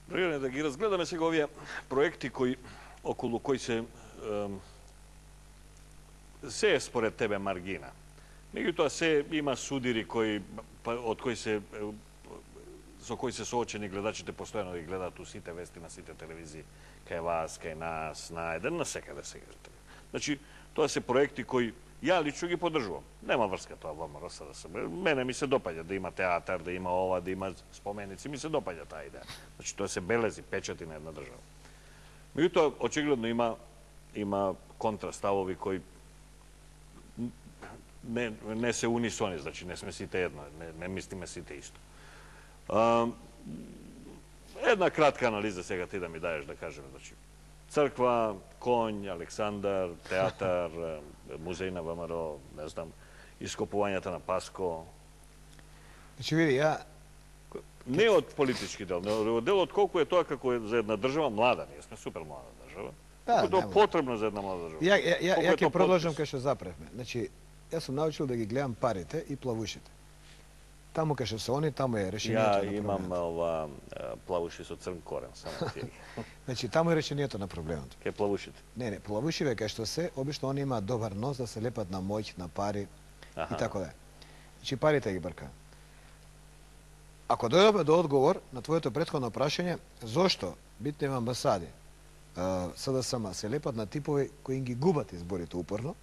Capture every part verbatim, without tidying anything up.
Драги, да ги разгледаме сега овие проекти кои околу кои се се е според тебе маргина. Меѓутоа се има судири кои од кои се со кои се соочени гледачите постојано да ги гледаат у сите вести на сите телевизии, кај вас, кај нас, на еден, на секаде сега. Значи, тоа се проекти кои ја лично ги поддржувам. Нема врска тоа во МРСДС. Мене ми се допаѓа да има театар, да има ова, да има споменици, ми се допаѓа таа идеја. Значи, тоа се белези, печати на една држава. Меѓутоа, очигледно има има контраставови кои не, не се унисони, значи не сме сите едно, не, не мислиме сите исто. А, една кратка анализа сега ти да ми даеш да кажеме, значи црква, конј, Александар, театар, музеј на ВМРО, не знам, ископувањата на Паско. Значи види, ја не од политички дел, но од дел од колку е тоа како е за една држава млада, ние сме супер млада држава. Да, колку тоа потребно за една млада држава. Ја ја ја ја ќе продолжам кај што запревме. Значи, јас сум научил да ги гледам парите и плавушите. Таму кај што се они, таму е решението. Ја имам ова плавуши со црн корен, само ти. Значи, таму е решението на проблемот. Кај плавушите? Не, не, плавушиве кај што се, обично они имаат добар нос да се лепат на моќ, на пари и така да. Значи, парите ги брка. Ако дојдеме до одговор на твоето претходно прашање, зошто битните амбасади СДСМ се лепат на типови кои ги губат изборите упорно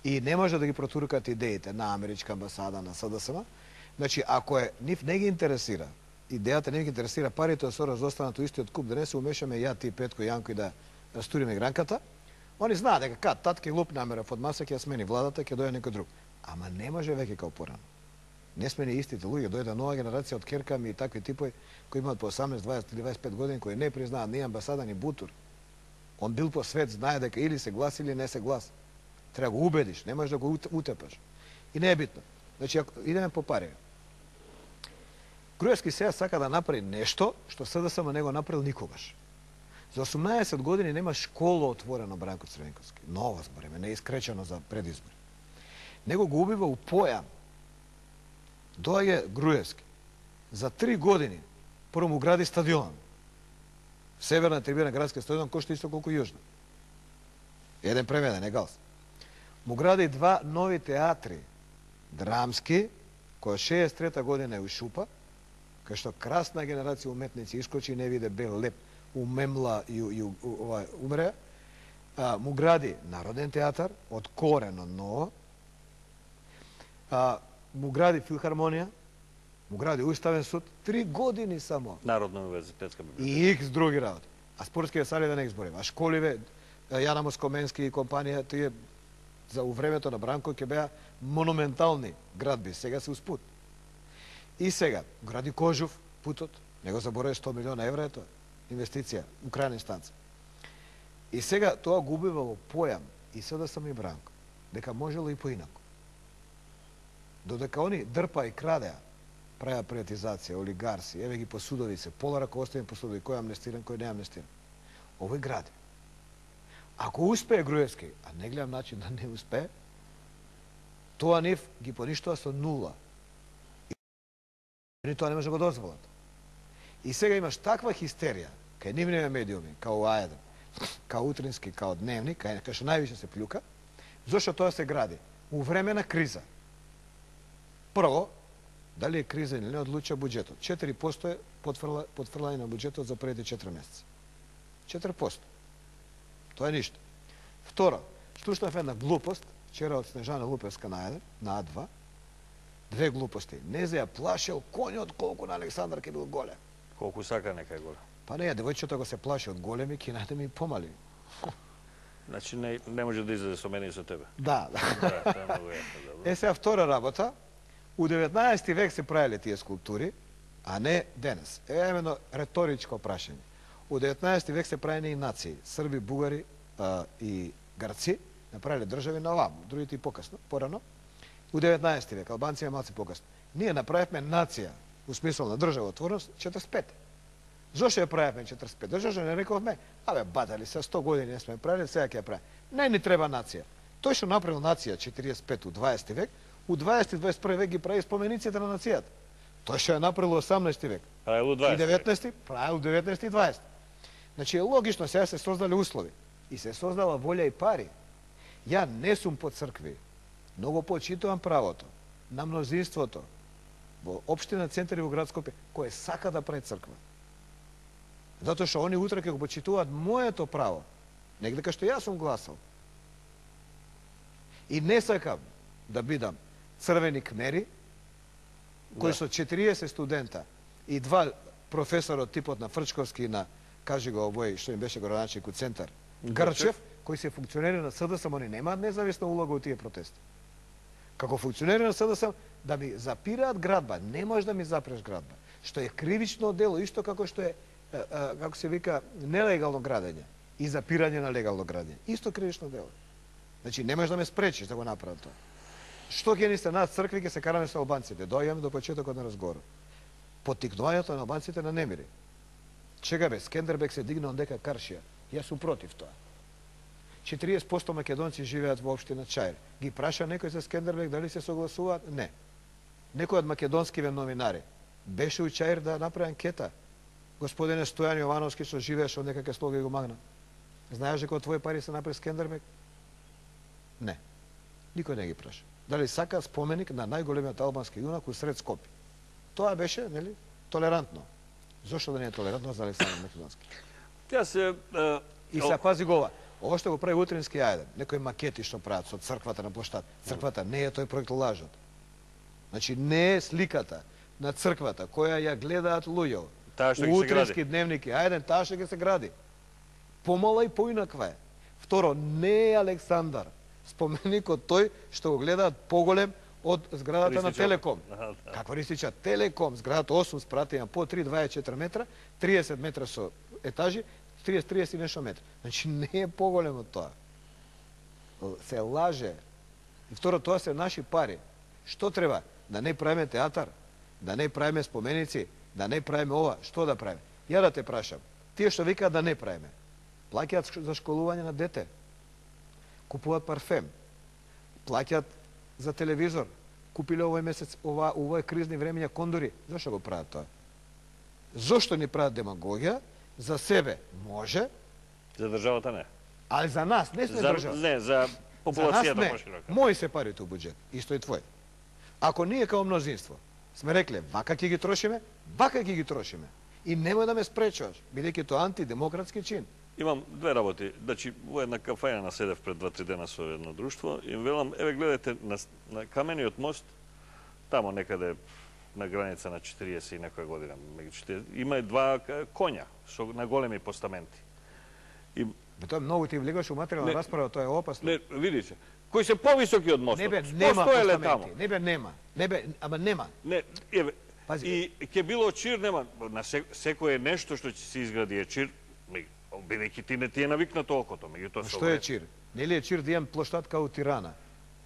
и не може да ги протуркат идеите на америчка амбасада, на СДСМ, значи, ако е, нив не ги интересира, идејата не ги интересира парите со разостанат у истиот куп, да не се умешаме ја, ти, Петко и Јанко и да растуриме гранката, они знаат дека кад тат ќе луп намерав од маса, ќе смени владата, ќе дојде некој друг. Ама не може веќе као порано. Не сме не истите луѓе, дојде нова генерација од керками и такви типови кои имаат по осамнаесет, дваесет или дваесет и пет години, кои не признаат ни амбасада, ни бутур. Он бил по свет, знае дека или се глас или не се глас. Треба го убедиш, не можеш да го утепаш. И не е битно. Значи, ако идеме по пари. Груевски сега сака да направи нешто што СДСМ не го направил никогаш. За осумнаесет години нема школа отворена Бранко Црвенковски. Нова збориме, не е искречено за предизбори. Него го убива у појам. Доаѓа Груевски. За три години прво му гради стадион. Северна трибина градски стадион кошта исто колку јужна. Еден премеден, егалс. Му гради два нови театри, драмски, која шеесет и трета година е у Шупа, кај што красна генерација уметници искочи и не виде бел леп, умемла и, и ова, умре. А, му гради Народен театар, од корено ново. А, му гради филхармонија, му гради Уставен суд, три години само. Народна универзитетска библиотека. И икс други работи. А спортските сали да не ги зборим. А школиве, Јана Москоменски и компанија, тие за у времето на Бранко ќе беа монументални градби, сега се успут. И сега, гради Кожув, путот, не го заборави сто милиона евра е тоа, инвестиција, у крајна инстанца. И сега тоа го убива во појам, и СДСМ и Бранко, дека можело и поинако. Додека они дрпа и крадеа, правеа приватизација, олигарси, еве ги по судови се, пола раководствени по судови, кој е амнестиран, кој не е амнестиран. Овој гради. Ако успее Груевски, а не гледам начин да не успее, тоа нив ги поништува со нула. И тоа не може да го дозволат. И сега имаш таква хистерија, кај нивните медиуми, као А еден, као Утрински, као Дневник, кај што највише се плюка, зашто тоа се гради? У време на криза. Прво, дали е криза или не, одлуча буџетот. четири проценти е потфрлање на буџетот за првите четири месеца. четири проценти. Тоа е ништо. Второ, слушнав една глупост, вчера од Снежана Лупевска на еден, на А два, две глупости. Не за ја плашел конјот колку на Александар ке бил голем. Колку сака нека е голем. Па не, девојчето го се плаши од големи, ке најде ми помали. Значи не, не може да излезе со мене и со тебе. Да, да. Да, тоа е многу јасно, добро. Е сега втора работа, у деветнаесети век се правиле тие скулптури, а не денес. Е именно реторичко прашање. У деветнаесети век се правени и нации, срби, бугари а, и гарци, направиле држави на овам, другите и покасно, порано. У деветнаесети век, албанци малци покасно. Ние направивме нација, у смисол на државотворност, четиридесет и пет. Зошто ја правевме четиридесет и пет? Зошто не рековме, абе, бадали се, сто години не сме правили, сега ќе ја правим. Не ни треба нација. Тој што направил нација четиридесет и пет у дваесети век, у дваесети и дваесет и први век ги прави спомениците на нацијата. Тој што ја направил у осамнаесети век. Правило дваесет. И деветнаесети, правило деветнаесети и дваесети. Значи е логично, сега се создали услови и се создала волја и пари. Ја не сум по цркви, многу почитувам правото на мнозинството во општина Центар и во град Скопје, кој сака да прави црква. Затоа што они утре ќе го почитуваат моето право, негде кај што јас сум гласал. И не сакам да бидам црвени кмери, кои со четириесет студента и два професора од типот на Фрчковски и на, кажи го овој, што им беше градоначелник у Центар, Грчев, кои се функционери на СДСМ, они немаат независна улога у тие протести. Како функционери на СДСМ, да ми запираат градба, не можеш да ми запреш градба, што е кривично дело, исто како што е, како се вика, нелегално градење и запирање на легално градење. Исто кривично дело. Значи, не можеш да ме спречиш да го направам тоа. Што ќе ни се над цркви, ќе се караме со албанците. Дојаме до почетокот на разговорот. Поттикнувањето на албанците на немири. Чега бе, Скендербек се дигна дека Каршија. Јас сум против тоа. четириесет проценти македонци живеат во општина Чаир. Ги праша некој за Скендербек дали се согласуваат? Не. Некој од македонскиве новинари беше у Чаир да направи анкета. Господине Стојан Јовановски што живееше од некаке слога и го магна. Знаеш дека од твои пари се направи Скендербек? Не. Никој не ги праша. Дали сака споменик на најголемиот албански јунак усред Скопје. Тоа беше, нели, толерантно. Зошто да не е толерантно за Александар Македонски? Тя се... Uh, и се пази го ова. Ова што го прави Утрински ајден, некои макети што прават со црквата на площад. Црквата не е тој проект лажот. Значи не е сликата на црквата која ја гледаат луѓе. Утрински дневник е ајден, таа што ќе се гради. Помала и поинаква е. Второ, не е Александар споменикот тој што го гледаат поголем од зградата на Телеком. Каква ристича? Телеком, зградата осум спрати, има по три дваесет и четири метра, триесет метра со етажи, триесет триесет и нешто метра. Значи не е поголем од тоа. Се лаже. И второ, тоа се наши пари. Што треба? Да не правиме театар, да не правиме споменици, да не правиме ова, што да правиме? Ја да те прашам, тие што викаат да не правиме, плаќаат за школување на дете, купуваат парфем, плаќаат за телевизор, купиле овој месец, ова, овој кризни времења кондори. Зошто го прават тоа? Зошто ни прават демагогија? За себе може. За државата не. Ali za nas, ne sme država. Ne, za populacijata poširoko. Moji se parите u budžet, isto i tvoj. Ako nije kao mnozinstvo, sme rekli, vaka ќе ги трошиме, вака ќе ги трошиме. И немој да ме спречуваш, бидејќи тоа антидемократски чин. Имам две работи. Значи, во една кафања наседев пред два-три дена со едно друштво и велам, еве гледате на, на камениот мост, тамо некаде на граница на четириесет и некоја година, има два коња со на големи постаменти. И бе, тоа многу ти влегаш у материјална расправа, тоа е опасно. Не, видите, кои се повисоки од мостот. Не бе, нема постаменти. Не бе, нема. Не бе, ама нема. Не, еве, и ќе било чир, нема, на секој е нешто што ќе се изгради е чир, бидејќи ти не ти е навикнато окото, меѓутоа што е чир? Нели е чир да имам площад као Тирана?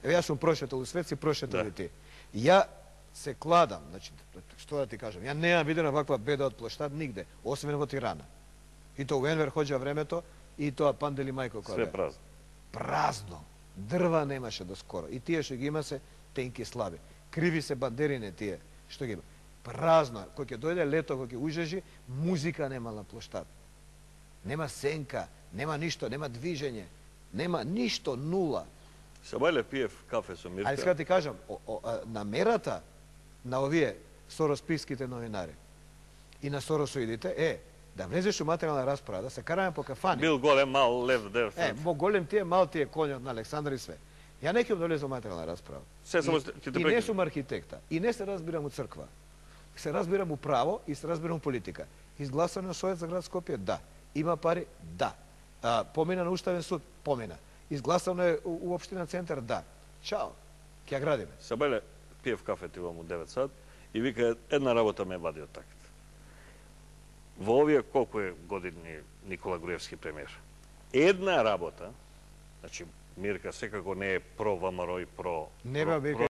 Еве јас сум прошетал у свет, си прошетал и ти. Ја се кладам, значи, што да ти кажам, ја неам видена ваква беда од площад нигде, освен во Тирана. И тоа у Енвер хоѓа времето, и тоа Пандели мајко која. Све празно. Празно. Дрва немаше до скоро. И тие што ги има се тенки слаби. Криви се бандерине тие што ги има. Празно. Кој ќе дојде лето, кој ќе ужежи, музика нема на площад. Нема сенка, нема ништо, нема движење, нема ништо, нула. Сабајле пиев кафе со Мирка. Али сега ти кажам, о, о, намерата на овие соросписките новинари и на соросоидите е да влезеш у материјална расправа, да се караме по кафани. Бил голем, мал, лев, дев. Е, во голем тие, мал тие коњот на Александар и све. Ја не ќе да влезам у материјална расправа. Се само и, и не сум архитекта, и не се разбирам у црква. Се разбирам у право и се разбирам у политика. Изгласано Совет за град Скопје, да. Има пари, да. А, помина на Уставен суд, помина. Изгласано е у, у општина Центар, да. Чао, ќе ја градиме. Сабајле пиев кафе ти во му девет сат и вика една работа ме вади од такет. Во овие колку е години Никола Груевски премиер. Една работа, значи Мирка секако не е про ВМРО и про... Не бе,